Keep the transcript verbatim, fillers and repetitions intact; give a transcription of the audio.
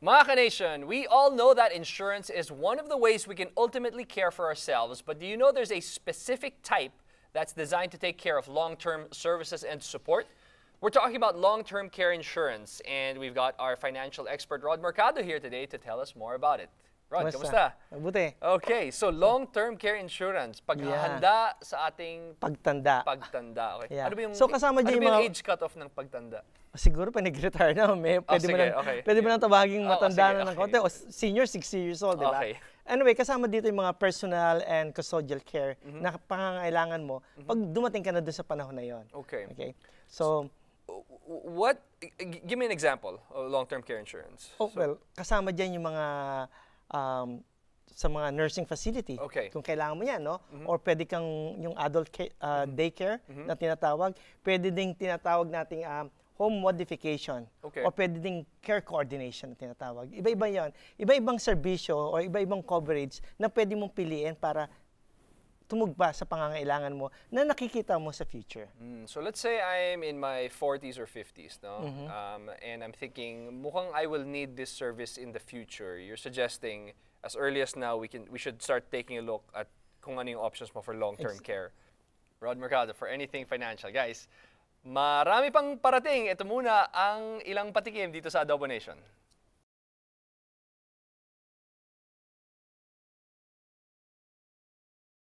Mga ka-nation, we all know that insurance is one of the ways we can ultimately care for ourselves, but do you know there's a specific type that's designed to take care of long-term services and support? We're talking about long-term care insurance, and we've got our financial expert, Rod Mercado, here today to tell us more about it. Rod, kamusta? Mabuti. Okay, so long-term care insurance, paghahanda yeah. sa ating pagtanda. Pagtanda, okay. Yeah. Ano ba yung, so, kasama ano yung, ba yung mga... age cutoff ng pagtanda? Siguro pa nag-retire na, may, pwede, oh, mo sige, nang, okay. pwede mo nang tawaging matanda oh, na ng konti, o senior, sixty years old, di ba? Okay. Anyway, kasama dito yung mga personal and custodial care mm-hmm. na pangangailangan mo mm-hmm. pag dumating ka na doon sa panahon na yon. Okay. Okay. So, what, give me an example of long-term care insurance. Oh, so, well, kasama dyan yung mga um, sa mga nursing facility. Okay. Kung kailangan mo yan, no? Mm-hmm. Or pwede kang yung adult care, uh, mm-hmm. daycare mm-hmm. na tinatawag. Pwede ding tinatawag nating um, home modification. Okay. O pwede ding care coordination na tinatawag. Iba-iba yan. Iba-ibang serbisyo o iba-ibang coverage na pwede mong piliin para tumugba sa pangangailangan mo na nakikita mo sa future. Mm, so let's say I'm in my forties or fifties, no? Mm-hmm. um, and I'm thinking, mukhang I will need this service in the future. You're suggesting, as early as now, we can we should start taking a look at kung ano yung options mo for long-term care. Rod Mercado, for anything financial. Guys, marami pang parating. Ito muna ang ilang patikim dito sa Adobo Nation.